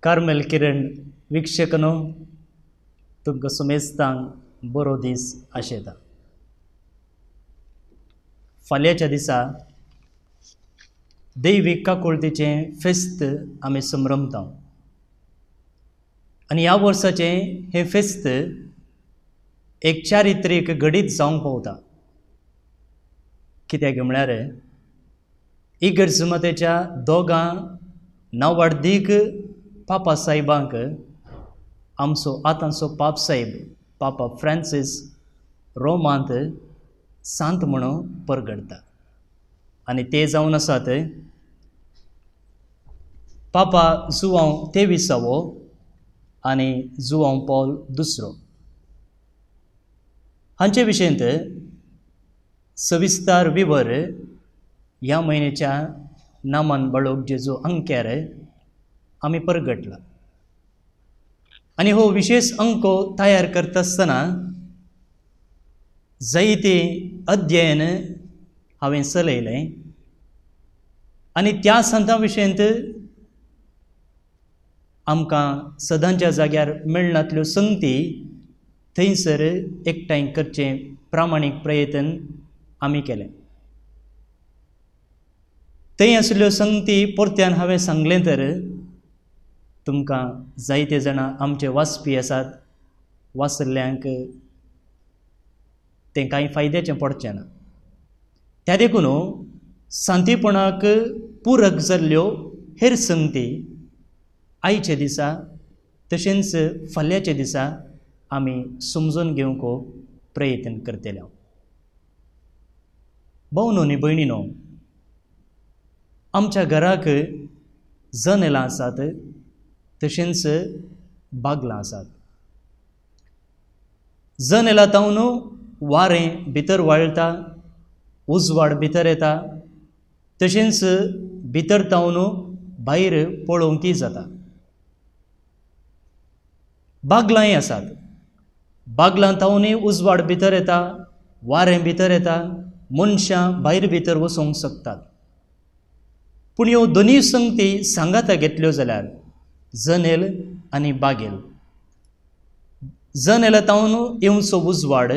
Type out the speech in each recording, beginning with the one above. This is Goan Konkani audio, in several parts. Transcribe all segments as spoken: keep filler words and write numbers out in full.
कार्मेल किरण वीक्षकनो तुमकां सुमेस्तांक बरो दीस आशेता. फाल्यांच्या दिसा दैवीक काकुळतीचें फेस्त आमी संभ्रमता आनी ह्या वर्साचें हें फेस्त एक चारित्रीक घडीत जावंक पावता. कित्याक म्हळ्यार इगर्ज मातेच्या दोगां नांवाडदीक पापा साहेबांक आमचो आतांचो पाप साहेब पापा फ्रांसीस रोमांत सांत म्हणून परगडटा आनी ते जावन आसात पापा जुवांव तेविसावो आनी जुवांव पॉल दुसरो. हांचे विशयंत सविस्तार विवर ह्या म्हयन्याच्या नामान बाळोक जेजू अंक्यार आमी परगटला आनी हो विशेष अंको तयार करता आसतना जायते अध्ययन हांवें चलयलें आनी त्या संतां विशयंत आमकां सदांच्या जाग्यार मेळनातल्यो संगती थंयसर एकठांय करचें प्रामाणीक प्रयत्न आमी केलें. थंय आशिल्ल्यो संगती परत्यान हांवें सांगलें तर तुमकां जायते जाणां आमचे वाचपी आसात, वाचल्ल्यांक तें कांय फायद्याचें पडचें ना. त्या देखून सांतीपणाक पुरक जाल्ल्यो हेर संगती आयच्या दिसा तशेंच फाल्यांच्या दिसा आमी समजून घेवंक प्रयत्न करतले. भोवनो न्ही भयणीनो, आमच्या घराक जनेलां आसात तशेंच बागलां आसात. जनेलां तावन वारें भितर वाळटा, उजवाड भितर येता, तशेंच भितर तावन भायर पळोवंकय जाता. बागलांय आसात, बागलां तावनूय उजवाड भितर येता, वारें भितर येता, मनशां भायर भितर वचूंक शकतात. पूण ह्यो दोनूय संगती सांगाता घेतल्यो जाल्यार जनेल आनी बागेल, जनेला तावन येवचो उजवाड,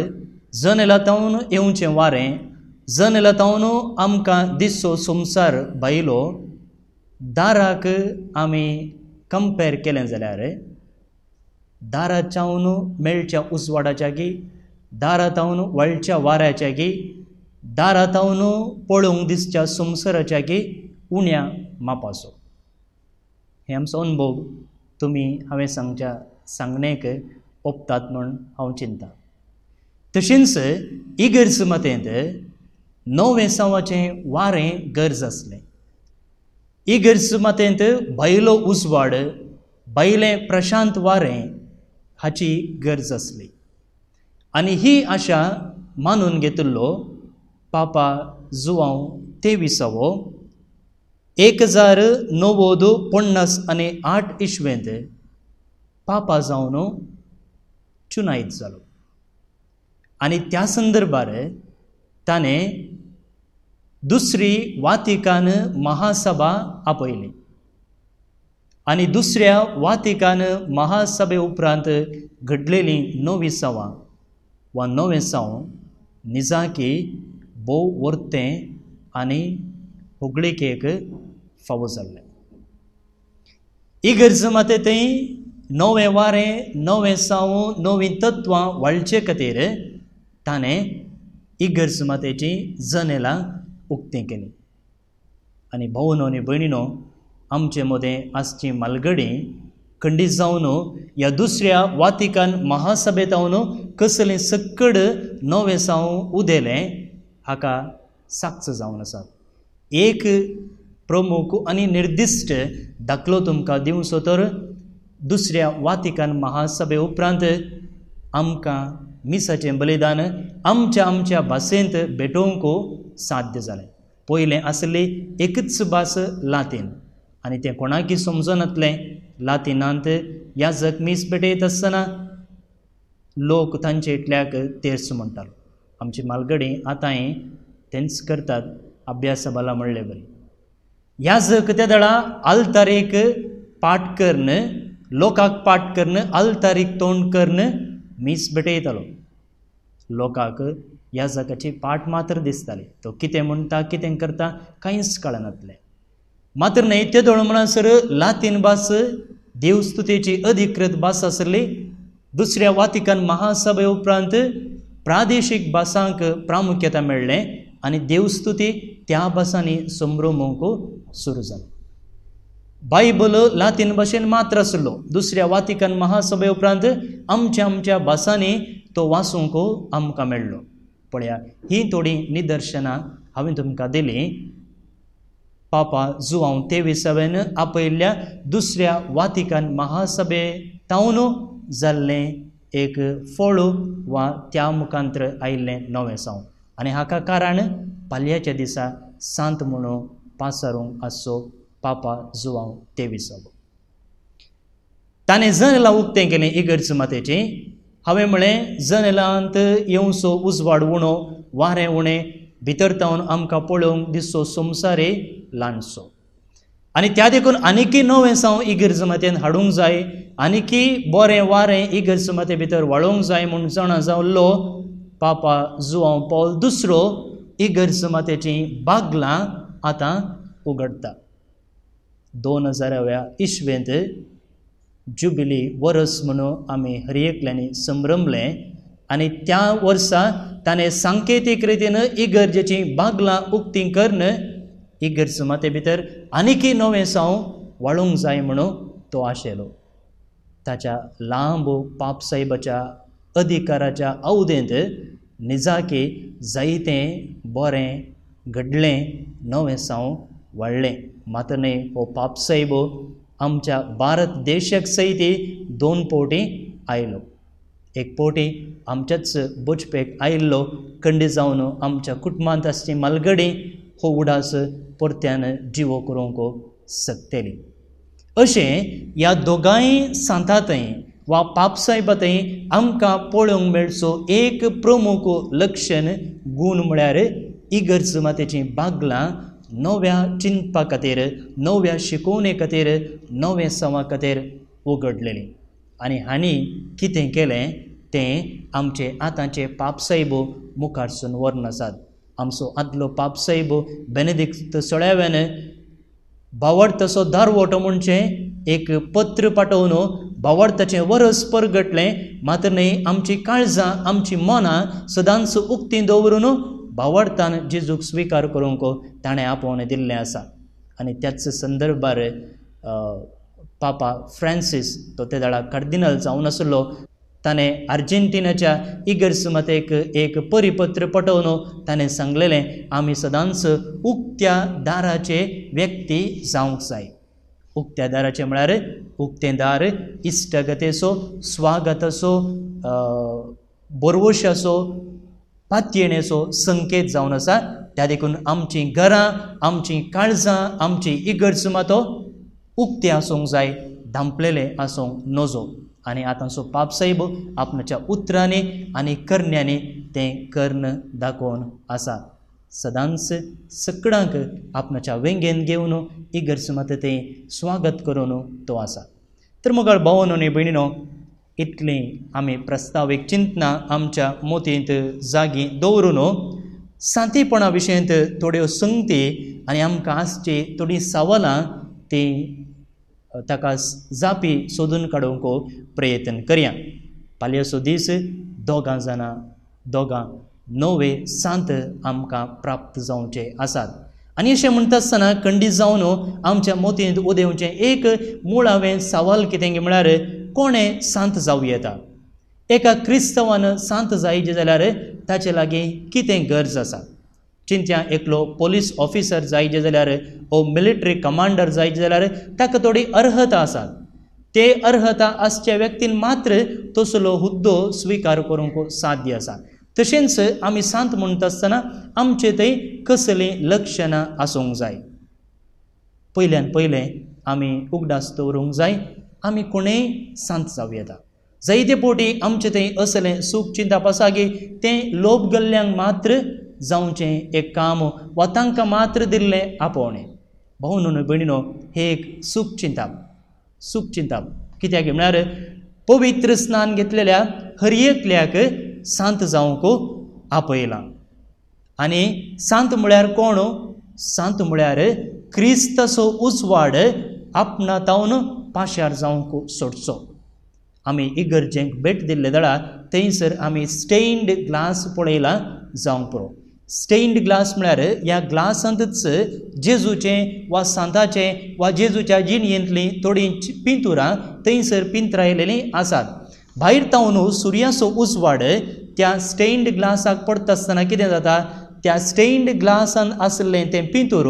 जनेला तावन येवचें वारें, जनेला तावन आमकां दिसचो संवसार भायलो दाराक आमी कंपेर केलें जाल्यार दाराच्यावन मेळच्या उजवाडाच्या गी, दारा तावन वळच्या वाऱ्याच्या गी, दारा तावन पळोवंक दिसच्या संवसाराच्या गी उण्या मापाचो. हे आमचो अनुभव तुमी हांवें सांगच्या सांगणेक ओपतात म्हूण हांव चिंता. तशेंच इगर्ज मातेंत नवें सावाचें वारें गरज आसलें. इगर्ज मातेंत भायलो उजवाड, भायलें प्रशांत वारें हाची गरज आसली आनी ही आशा मानून घेतिल्लो पापा जुवांव तेविसावो एक हजार णव्वद पन्नास आनी आठ इस्वेंत पापा जावन चुनायत जालो आनी त्या संदर्भार ताणें दुसरी वातिकान महासभा आपयली आनी दुसऱ्या वातिकान महासभे उपरांत घडलेली नवी सवां वा नवें साव निजाकी भोव वर्तें आनी होगळिकेक फावो जाल्लें. इगर्ज माते थंय नवें वारें, नवें साव, नवीं तत्वां वाळचे खातीर ताणें इगर्ज मातेचीं जनेलां उक्तीं केलीं. आनी भावनो आनी भयणीनो, आमचे मदें आसची मालगडी खंडीत जावन ह्या दुसऱ्या वातिकान महासभेतावन कसलें सक्कड नवें साव उदेलें हाका साक्ष जावन आसात. एक प्रमुख आनी निर्दिश्ट दाखलो तुमकां दिवचो तर दुसऱ्या वातिकान महासभे उपरांत आमकां मिसाचें बलिदान आमच्या आमच्या भाशेंत भेटोवंक साध्य जालें. पयलें आसली एकच भास लातीन आनी तें कोणाकय समजनातलें. लातिनांत याजक मीस भेटयत आसतना लोक तांचे इतल्याक तेर्स म्हणटालो. आमची मालगडी आतांय तेंच करतात अभ्यासा बाला म्हणले बरी. याजक त्या दळा आल्तारेक पाठ करून, लोकांक पाठ करून, आल्तारीक तोंड करून मीस भेटयतालो. लोकांक याजकाची पाठ मात्र दिसताली, तो कितें म्हणटा कितें करता कांयच कळनातलें. मात्र न्हय तेदोळ म्हणसर लातीन भास देवस्तुतेची अधिकृत भास आसली. दुसऱ्या वातिकन महासभे उपरांत प्रादेशीक भासांक प्रामुख्यता मेळ्ळें आनी देवस्तुती त्या भासांनी संभ्रमूंक सुरू जाली. बायबल लातीन भाशेन मात्र आसलो. दुसऱ्या वातिकन महासभे उपरांत आमच्या आमच्या भासांनी तो वाचूंक आमकां मेळ्ळो. पळया, हीं थोडीं निदर्शनां हांवें तुमकां दिलीं. पापा जुआंव तेविसाव्यान आपयल्ल्या दुसऱ्या वातिकन महासभे तावन जाल्लें एक फळ वा त्या मुखांत्र आयिल्लें नवें साव. आनी हाका कारण पालयाच्या दिसा सांत म्हणून पासारूंक आसचो पापा जुआंव तेविसावो. ताणें जनेलां उक्तें केलें इगर्ज मातेचें. हांवें म्हळें, जनेलांत येवचो उजवाड उणो, वारें उणें, भितर तावन आमकां पळोवंक दिसचो संवसारय ल्हानसो. आनी त्या देखून आनीकय नवें साव इगर्ज मातेन हाडूंक जाय, आनीकय बरें वारें इगर्ज माते भितर वाळोवंक जाय म्हूण जाणा जाल्लो पापा जुआंव पावल दुसरो इगर्ज मातेचीं बागलां आतां उगडटा. दोन हजाराव्या इस्वेंत जुबिली वरस म्हणून आमी हर एकल्यांनी संभ्रमलें आनी त्या वर्सा ताणें सांकेतीक रितीन इगर्जेचीं बागलां उक्तीं करून इगर्ज माते भितर आनीकय नवें साव वाळूंक जाय म्हणून तो आशेलो. ताच्या लांब पापसाहेबाच्या अधिकाराच्या अवधेंत निजाकी जायतें बरें घडलें, नवें साव वाडलें. मात्र न्हय, हो पापसाहेब आमच्या भारत देशाक सयत दोन फावटी आयलो. एक फावटी आमच्याच बचपेक आयिल्लो, कंडी जावन आमच्या कुटुंबांत आसची मालगडी हो उडास परत्यान जिवो करूंक शकतली. अशें ह्या दोगांय सांतांतय वा पापसाहेबांतय आमकां पळोवंक मेळचो एक प्रमुख लक्षण गूण म्हळ्यार इगर्ज मातेचीं बागलां नव्या चिंतपा खातीर, नव्या शिकोवणे खातीर, नव्या सवा खातीर उगडलेली. आनी हांणी कितें केलें तें आमचे आतांचे पापसाहेब मुखारसून व्हरून आसात. आमचो आदलो पापसाहेब बेनेदिक्त सोळ्याव्यान भावार्थाचो दारवटो म्हणचें एक पत्र पाठोवन भावार्थाचें वरस परगटलें. मात्र न्हय, आमची काळजां आमची मनां सदांच उक्तीं दवरून भावार्थान जेजूक स्विकार करूंक ताणें आपोवणें दिल्लें आसा. आनी त्याच संदर्भार पापा फ्रांसीस तो ते वेळार कार्दिनाल जावन आसलो, ताणें आर्जेंटिनाच्या इगर्ज मातेक एक परिपत्र पाठोवन ताणें सांगलेलें, आमी सदांच उक्त्या दाराचे व्यक्ती जावंक जाय. उक्त्या दाराचे म्हळ्यार उक्तें दार इश्टागतेचो, स्वागताचो, बरवशाचो, पातयेणेचो संकेत जावन आसा. त्या देखून आमचीं घरां, आमचीं काळजां, आमची इगर्ज मातो उक्तें आसूंक जाय, धांपलेलें आसूंक नजो. आनी आतांचो पापसाहेब आपणाच्या उतरांनी आनी करण्यांनी तें कर्ण दाखोवन आसा. सदांच सगळ्यांक आपणाच्या वेंगेन घेवन इगर्ज माते तें स्वागत करून तो आसा. तर मोगाळ भावानो आनी भयणीनो, इतलीं आमी प्रस्तावीक चिंतनां आमच्या मोतींत जागी दवरून सांतेपणा विशयंत थोड्यो संगती आनी आमकां आसची थोडीं सवालां तीं ताका जापी सोदून काडूंक प्रयत्न करया. पालयेचो दीस दोगां जाणां दोगां नवे सांत आमकां प्राप्त जावचे आसात. आनी अशें म्हणटा आसतना खंडीत जावन आमच्या मोतींत उदेवचें एक मुळावें सवाल कितें म्हळ्यार कोणें सांत जावं येता? एका क्रिस्तांवान सांत जायचें जाल्यार ताचे लागीं कितें गरज आसा? चिंत्या एकलो पोलीस ऑफिसर जायचे जाल्यार ओ मिलिटरी कमांडर जायचे जाल्यार ताका थोडी अर्हता आसा. ते अर्हता आसच्या व्यक्तीन मात्र तसलो हुद्दो स्विकार करूंक साध्य आसा. तशेंच आमी सांत म्हणटा आसतना आमचे थंय कसलीं लक्षणां आसूंक जाय? पयल्यान पयलें आमी उगडास दवरूंक जाय आमी कोणेय सांत जावं येता. जायते फावटी आमचे थंय असलें सूख चिंतप आसा की तें लोभ गल्ल्यांक मात्र जावचें एक काम वा तांकां मात्र दिल्लें आपोवणें. भावनो न्हय भयणीनो, हें एक सूख चिंतप. चूक चिंतप. कित्याक म्हळ्यार पवित्र स्नान घेतलेल्या हर एकल्याक सांत जावंक आपयलां. आनी सांत म्हळ्यार कोण? सांत म्हळ्यार क्रिस्ताचो उजवाड आपणा तावन पाशार जावंक सोडचो. आमी इगर्जेंक भेट दिल्ले दळा थंयसर आमी स्टेन्ड ग्लास पळयला जावंक पुरो. स्टेन्ड ग्लास म्हळ्यार ह्या ग्लासांतच जेजूचें वा सांताचें वा जेजूच्या जिणयेंतलीं थोडीं पिंतुरां थंयसर पिंतरायलेलीं आसात. भायर तावन सुर्याचो उजवाड त्या स्टेन्ड ग्लासाक पडटा आसतना कितें जाता? त्या स्टेन्ड ग्लासान आशिल्लें तें पिंतूर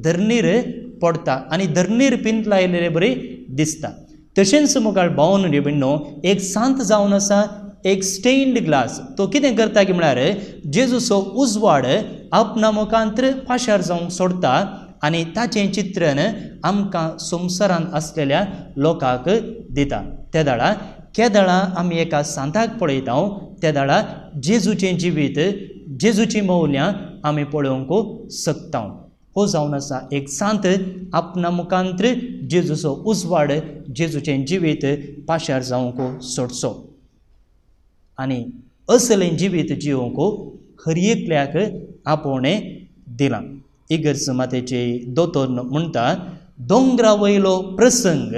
धरणीर पडटा आनी धरणीर पिंतलायलेले बरी दिसता. तशेंच मुखार भावन भिण्णो एक सांत जावन आसा एक स्टेन्ड ग्लास. तो कितें करता की म्हळ्यार जेजूचो उजवाड आपणा मुखांत पाशार जावंक सोडटा आनी ताचें चित्रण आमकां संवसारांत आसलेल्या लोकांक दिता. ते दाळा केदळा आमी एका सांताक पळयता ते दाळा जेजूचें जिवीत जेजूचीं मौल्यां आमी पळोवंक शकता. हो जावन आसा एक सांत आपणा मुखांत जेजूचो उजवाड जेजूचें जिवीत पाशार जावंक सोडचो. आनी असलें जिवीत जिवंक हर एकल्याक आपोवणें दिलां. इगर्ज मातेचे दोतोर म्हणटा दोंगरा वयलो प्रसंग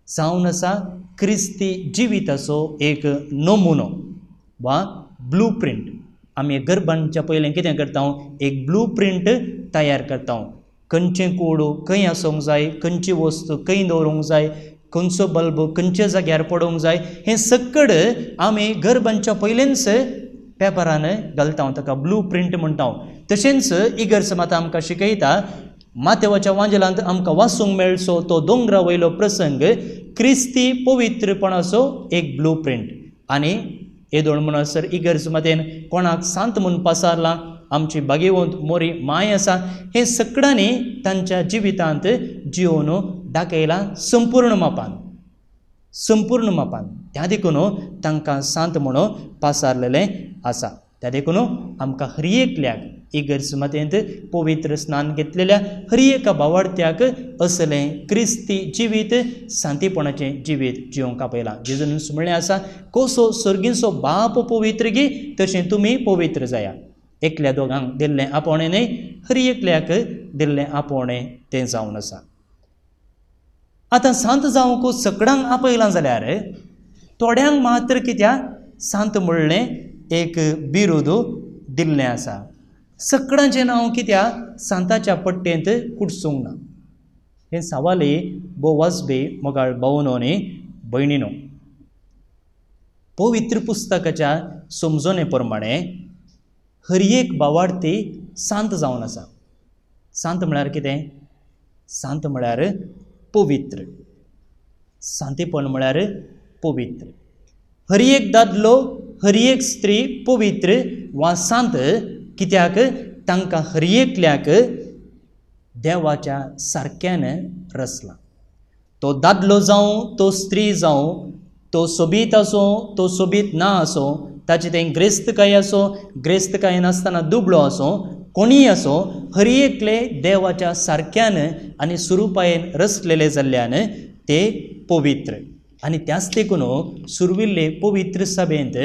जावन आसा क्रिस्ती जिविताचो एक नमुनो वा ब्लू प्रिंट. आमी घर बांदच्या पयलें कितें करता? एक ब्लू प्रिंट तयार करता. खंयचें कोडू खंय आसूंक जाय, खंयची वस्तू खंय दवरूंक जाय, खंयचो बल्ब खंयच्या जाग्यार पडूंक जाय, हें सकड आमी घर बांदच्या पयलेंच पेपरान घालता, ताका ब्लू प्रिंट म्हणटा. तशेंच इगर्ज माता आमकां शिकयता मातेवाच्या वांजेलांत आमकां वाचूंक मेळचो तो दोंगरा वयलो प्रसंग क्रिस्ती पवित्रपणाचो एक ब्लू प्रिंट. आनी येदोळ म्हणसर इगर्ज मातेन कोणाक सांत म्हूण पासारलां, आमची भागेवंत मोरी माय आसा, हे सगळ्यांनी तांच्या जिवितांत जिवन दाखयलां संपूर्ण मापान संपूर्ण मापान. त्या देखून तांकां सांत म्हणून पासारलेलें आसा. त्या देखून आमकां हर एकल्याक इगर्ज मातेंत पवित्र स्नान घेतलेल्या हर एका भावार्थ्याक असलें क्रिस्ती जिवीत सांतीपणाचें जिवीत जिवंक आपयलां. जेजून म्हणलें आसा कसो सर्गींचो बाप पवित्र गी तशें तुमी पवित्र जाया. एकल्या दोगांक दिल्लें आपोवणें न्हय, हर एकल्याक दिल्लें आपोवणें तें जावन आसा. आतां सांत जावंक सगळ्यांक आपयलां जाल्यार थोड्यांक मात्र कित्याक सांत म्हणलें एक बिरुद दिल्लें आसा. सगळ्यांचें नांव कित्याक सांताच्या पट्टेंत कुडसूंक ना? हें सवाली भोव वाजबी मोगाळ भावनो आनी भयणीनो. पवित्र पुस्तकाच्या समजणे प्रमाणे हर एक भावार्थी सांत जावन आसा. सांत म्हळ्यार कितें? सांत म्हळ्यार पवित्र. सांतेपण म्हळ्यार पवित्र. हर एक दादलो हर एक स्त्री पवित्र वा सांत कित्याक तांकां हर एकल्याक देवाच्या सारक्यान रचला. तो दादलो जावं तो स्त्री जावं, तो सोबीत आसूं तो सोबीत ना आसूं, ताचें तें ग्रेस्तकाय आसूं ग्रेस्तकाय नासतना दुबळो आसूं, कोणीय आसूं, हर एकले देवाच्या सारक्यान आनी सुरुपायेन रचलेले जाल्ल्यान ते पवित्र. आनी त्याच देखून सुरविल्ले पवित्र सभेंत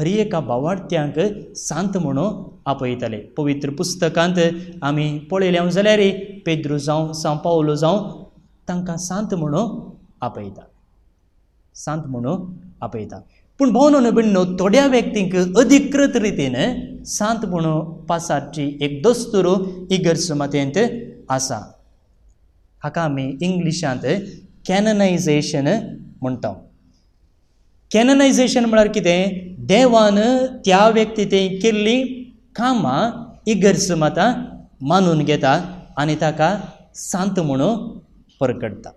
हर एका भावार्थ्यांक सांत म्हणून आपयताले. पवित्र पुस्तकांत आमी पळयलें जाल्यार पेद्रू जावं सांव पावलो जावं तांकां सांत म्हणून आपयता सांत म्हणून आपयता. पूण भोवनो भयणीनो थोड्या व्यक्तींक अधिकृत रितीन सांत म्हणून पासारची एक दस्तूर इगर्ज मातेंत आसा. हाका आमी इंग्लिशांत कॅननायझेशन म्हणटा. कॅननायझेशन म्हळ्यार कितें? देवान त्या व्यक्ती तें केल्लीं कामां इगर्ज माता मानून घेता आनी ताका सांत म्हणून परगटता.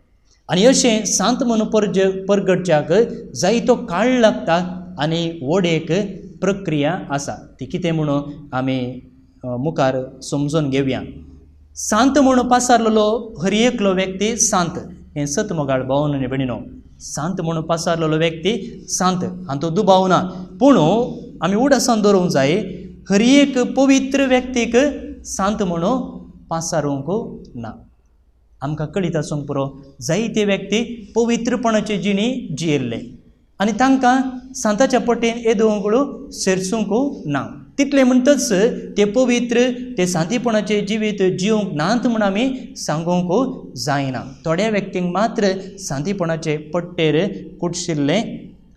आनी अशें सांत म्हणून परज परगटच्याक जायतो काळ लागता आनी व्हड एक प्रक्रिया आसा. ती कितें म्हणून आमी मुखार समजून घेवया. सांत म्हणून पासारलेलो हर एकलो व्यक्ती सांत, हें सत मोगाळ भावन आनी भयणीनो. सांत म्हणून पासारलेलो व्यक्ती सांत हातूंत दुबाव ना. पूण आमी उडासान दवरूंक जाय हर एक पवित्र व्यक्तीक सांत म्हणून पासारूंक ना. आमकां कळीत आसूंक पुरो, जायते व्यक्ती पवित्रपणाचे जिणी जियेल्ले आनी तांकां सांताच्या पट्टेन येदोवंक सेरसूंक ना. तितलें म्हणटच ते पवित्र ते सांतीपणाचे जिवीत जिवंक नात म्हूण आमी सांगूंक जायना. थोड्या व्यक्तींक मात्र सांतीपणाचे पट्टेर कुटशिल्लें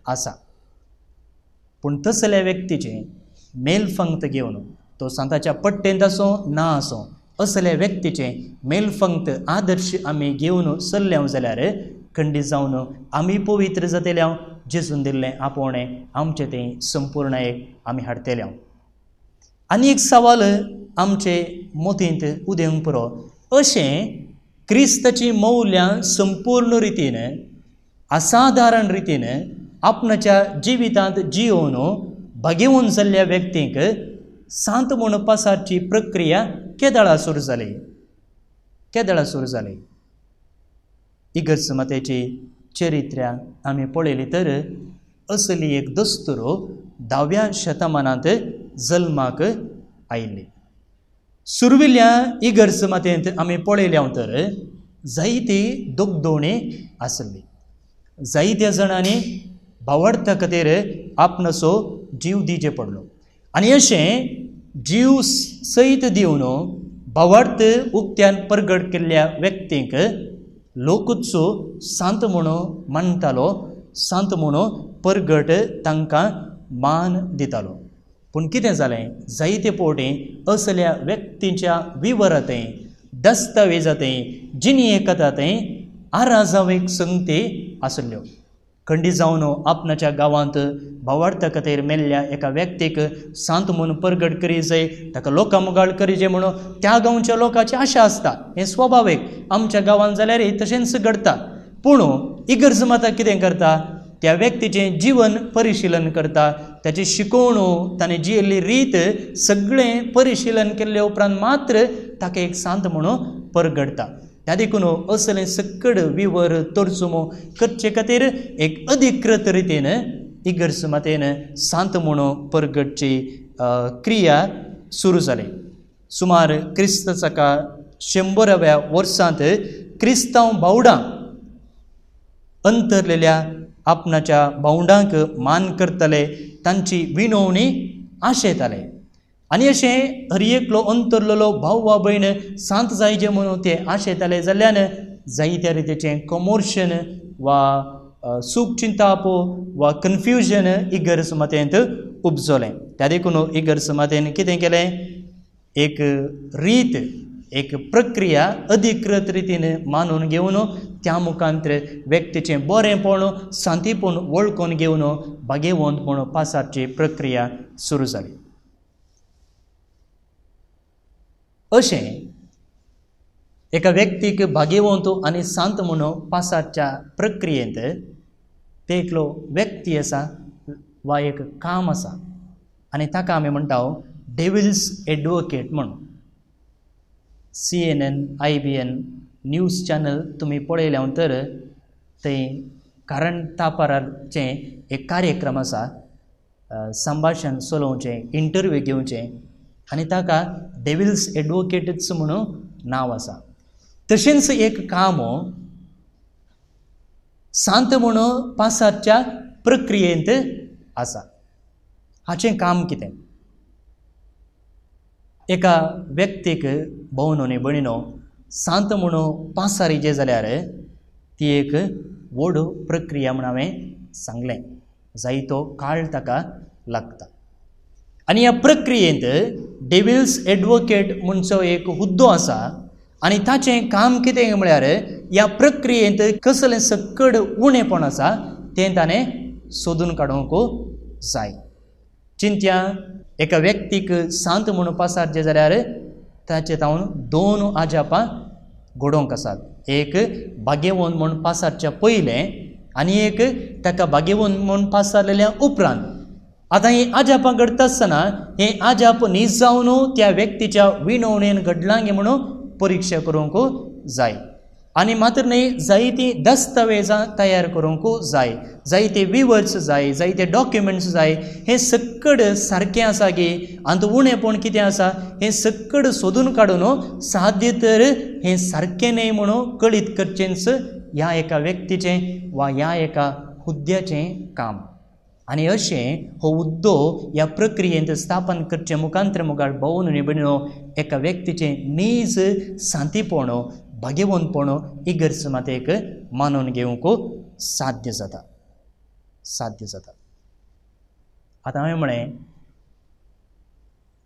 आसा. पूण तसल्या व्यक्तीचें मेलफंक्त घेवन, तो सांताच्या पट्टेंत आसूं ना आसूं, असल्या व्यक्तीचें मेलफंक्त आदर्श आमी घेवन चल्ले जाल्यार खंडीत जावन आमी पवित्र जातले. जेजून दिल्लें आपोवणें आमचें तें संपूर्ण एक आमी हाडटले. आनी एक सवाल आमचे मतींत उदेवंक पुरो, अशें क्रिस्ताचीं मौल्यां संपूर्ण रितीन असाधारण रितीन आपणाच्या जिवितांत जियोवन भागेवन जाल्ल्या व्यक्तींक सांत म्हूण पासाची प्रक्रिया केदळा सुरू जाली केदळा सुरू जाली इगर्ज मातेची चरित्र्या आमी पळयली तर असली एक दस्तूर धाव्या शतमानांत जल्माक आयिल्ली. सुरविल्ल्या इगर्ज मातेंत आमी पळयल्या तर जायती दोगदोवणी आसली. जायत्या जाणांनी भावार्था खातीर आपणाचो जीव दिवचे पडलो आनी अशें जीव सयत दिवन भावार्थ उक्त्यान परगट केल्ल्या व्यक्तींक लोकूच सांत म्हणून मानतालो, सांत म्हणून परगट तांकां मान दितालो. पूण कितें जालें, जायते फावटी असल्या व्यक्तींच्या विवरांतय दस्तावेजांतय जिणये कथांतय आराजावेक संगती आसल्यो. खंडीत जावन आपणाच्या गांवांत भावार्था खातीर मेल्ल्या एका व्यक्तीक सांत म्हूण परगट करी जाय, ताका लोकां मुखार करी जाय म्हणून त्या गांवच्या लोकांची आशा आसता. हें स्वाभावीक, आमच्या गांवांत जाल्यार तशेंच घडटा. पूण इगर्ज माता कितें करता, त्या व्यक्तीचें जीवन परिशिलन करता, ताची शिकोवणू, ताणें जियेल्ली रीत सगळें परिशिलन केल्ले उपरांत मात्र ताका एक सांत म्हणून परगडटा. त्या देखून असलें सकड विवर तर्जुमो करचे खातीर एक अधिकृत रितीन इगर्ज मातेन सांत म्हणून परगटची क्रिया सुरू जाली. सुमार क्रिस्त साका शंबराव्या वर्सांत क्रिस्तांव भावडां अंतरलेल्या आपणाच्या भावंडांक मान करतले, तांची विनवणी आशेताले आनी अशें हर एकलो अंतरलेलो भाव वा भयण सांत जायचे म्हणून ते आशेताले जाल्ल्यान जायत्या रितीचें कमोर्शन वा सूख चिंताप वा कन्फ्युजन इगर्ज मातेंत उपजलें. त्या देखून इगर्ज मातेन कितें केलें, एक रीत एक प्रक्रिया अधिकृत रितीन मानून घेवन त्या मुखांतर व्यक्तीचें बरेंपण सांतीपण वळखून घेवन भागेवंत म्हूण पासाची प्रक्रिया सुरू जाली. अशें एका व्यक्तीक भागेवंत आनी सांत म्हणून पासाच्या प्रक्रियेंत ते एकलो व्यक्ती आसा वा एक काम आसा आनी ताका आमी म्हणटा डेविल्स एडवोकेट म्हणून. C N N I B N news channel तुमी पळयल्या तर थंय कारण तापाराचें एक कार्यक्रम आसा, संभाशण चलोवचें, इंटरव्यू घेवचें आनी ताका डेविल्स एडवोकेटच म्हणून नांव आसा. तशेंच एक काम सांत म्हणून पासाच्या प्रक्रियेंत आसा. हाचें काम कितें, एका व्यक्तीक भोवन न्ही भयणीनो सांत म्हणून पासारीचें जाल्यार ती एक व्हड प्रक्रिया म्हूण हांवें सांगलें, जायतो काळ ताका लागता. आनी ह्या प्रक्रियेंत डेविल्स एडवोकेट म्हणचो एक हुद्दो आसा आनी ताचें काम कितें म्हळ्यार ह्या प्रक्रियेंत कसलें सकड उणेपण आसा तें ताणें सोदून काडूंक जाय. चिंत्या एका व्यक्तीक सांत म्हणून पासारचें जाल्यार ताचे तावन दोन आजापां घडोवंक आसात. एक भाग्यवंत म्हूण पासारच्या पयलें आनी एक ताका भाग्यवंत म्हूण पासारलेल्या उपरांत. आतां हीं आजापां घडटा आसतना हें आजाप न्हीज जावन त्या व्यक्तीच्या विनवणेन घडलां गे म्हणून परिक्षा करूंक जाय. आनी मात्र न्हय जायतीं दस्तावेजां तयार करूंक जाय, जायते विवर्स जाय, जायते डॉक्युमेंट्स जाय. हें सक्कड सारकें आसा गी आनी उणेपण कितें आसा हें सक्कड सोदून काडून साध्य तर हें सारकें न्हय म्हणून कळीत करचेंच ह्या एका व्यक्तीचें वा ह्या एका हुद्द्याचें काम. आनी अशें हो हुद्दो ह्या प्रक्रियेंत स्थापन करचें मुखांत्र मुखार भोवन निबणो एका व्यक्तीचें नीज सांतीपण भाग्यवंतपण इगर्ज मातेक मानून घेवंक साध्य जाता, साध्य जाता. आतां हांवें म्हळें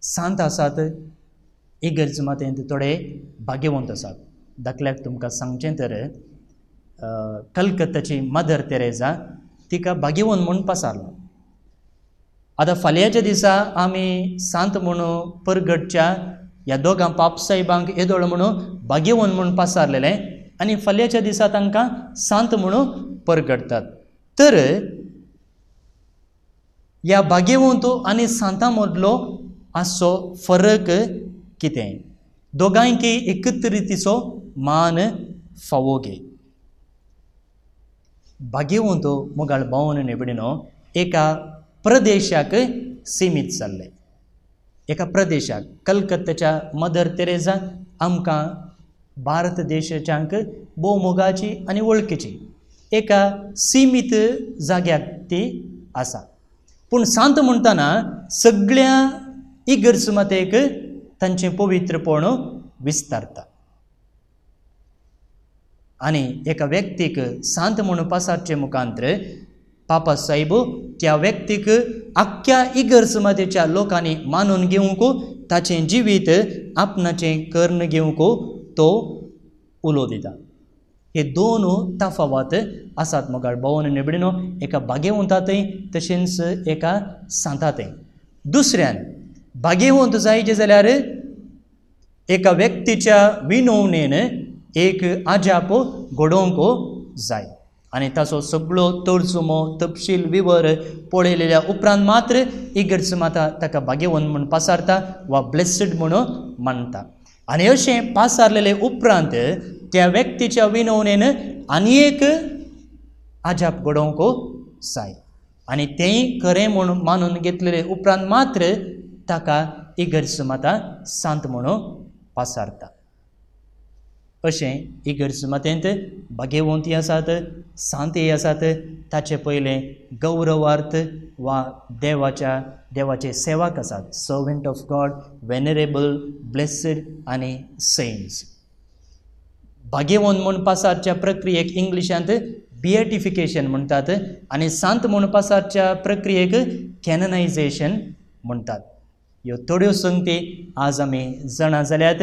सांत आसात इगर्ज मातेंत थोडे भाग्यवंत आसात. दाखल्याक तुमकां सांगचें तर कलकत्ताची मदर तेरेजा तिका भाग्यवंत म्हूण पासारलो. आतां फाल्यांच्या दिसा आमी सांत म्हणून परगटच्या ह्या दोगां पापसाहेबांक येदोळ म्हणून भाग्यवंत म्हूण पासारलेलें आनी फाल्यांच्या दिसा तांकां सांत म्हणून परगटतात. तर ह्या भाग्यवंत आनी सांतां मदलो आसचो फरक कितें? दोगांयकी एकच रितीचो मान फावो गे. भाग्यवंत मुगाळ भावन निबडिनो एका प्रदेशाक सिमीत जाल्ले, एका प्रदेशाक. कलकत्त्याच्या मदर तेरेजा आमकां भारत देशाच्यांक भोव मोगाची आनी वळखीची एका सिमीत जाग्याक ती आसा. पूण सांत म्हणटना सगळ्या इगर्ज मातेक तांचें पवित्रपण विस्तारता आनी एका व्यक्तीक सांत म्हणून पासारचे मुखांत्र पापा साहेब त्या व्यक्तीक आख्ख्या इगर्ज मातेच्या लोकांनी मानून घेवंक ताचें जिवीत आपणाचें कर्ण घेवंक तो उलो दिता. हे दोन तफावत आसात मुखार भोवन निबडिनो एका भाग्यवंतातय तशेंच एका सांतातय. दुसऱ्यान भाग्यवंत जायचे जाल्यार एका व्यक्तीच्या विनवणेन एक आजाप घडोवंक जाय आनी ताचो सगळो तर्जुमो तपशील विवर पळयलेल्या उपरांत मात्र इगर्ज माता ताका भाग्यवंत म्हूण पासारता वा ब्लेस्ड म्हणून मानता. आनी अशें पासारलेले उपरांत त्या व्यक्तीच्या विनवणेन आनी एक आजाप घडोवंक जाय आनी तेंय खरें म्हूण मानून घेतलेले उपरांत मात्र ताका इगर्ज माता सांत म्हणून पासारता. अशें इगर्ज मातेंत भाग्यवंती आसात, सांतय आसात. ताचे पयलें गौरवार्थ वा देवाच्या देवाचे सेवक आसात, servant of God, venerable, blessed आनी सेंट्स. भाग्यवंत म्हूण पासारच्या प्रक्रियेक इंग्लिशांत बिएटिफिकेशन म्हणटात आनी सांत म्हूण पासारच्या प्रक्रियेक कॅननायझेशन म्हणटात. ह्यो थोड्यो संगती आज आमी जाणा जाल्यात.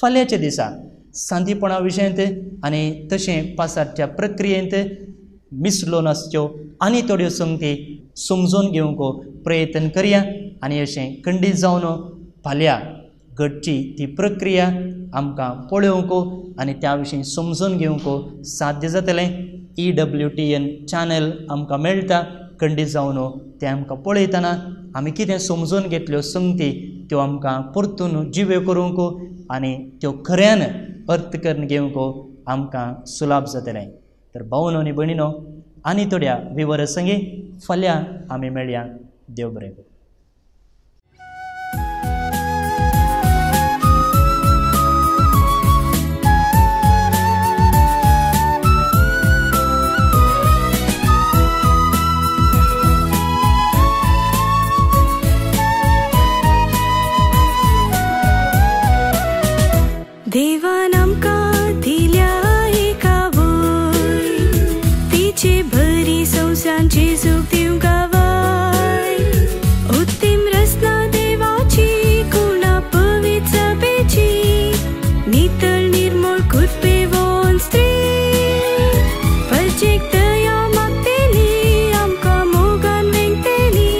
फाल्यांच्या दिसा सांतीपणा विशयांत आनी तशें पासारच्या प्रक्रियेंत मिसलो नासच्यो आनी थोड्यो संगती समजून घेवंक प्रयत्न करया आनी अशें खंडीत जावन फाल्यां घडची ती प्रक्रिया आमकां पळोवंक आनी त्या विशीं समजून घेवंक साध्य जातलें. E W T N channel आमकां मेळटा. खंडीत जावन तें आमकां पळयतना आमी कितें समजून घेतल्यो संगती त्यो आमकां परतून जिव्यो करूंक आनी त्यो खऱ्यान अर्थ करून घेवंक आमकां सुलाभ जातलें. तर भावनो आनी भयणीनो आनी थोड्या विवर संगी फाल्यां आमी मेळया. देव बरें करूं. देवान आमकां दिल्या एका वय तिचे बरी संवसांची सुख दिवंक गावाय. उत्तीम रचना देवाची कुणा पवित्र सभेची नितळ निर्मळ कृपेवन स्त्री परजेक दया मागतेली आमकां मोगान वेंगतेली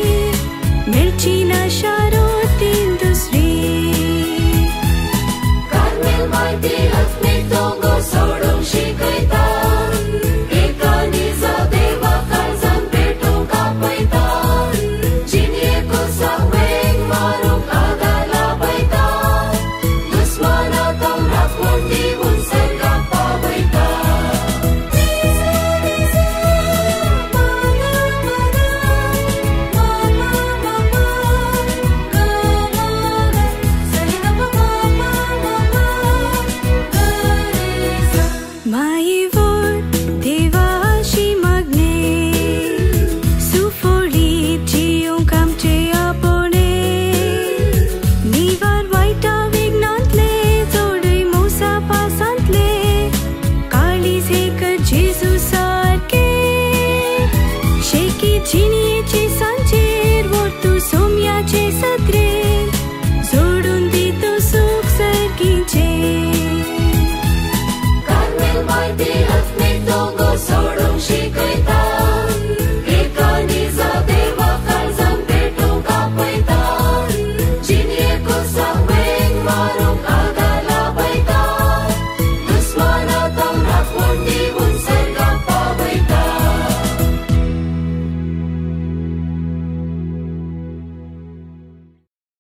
मेळची ना शारोतीन दुसरी. सोडूंक शिकयता एका निजा देवा काळजान पेटोवंक. शेकी जिणी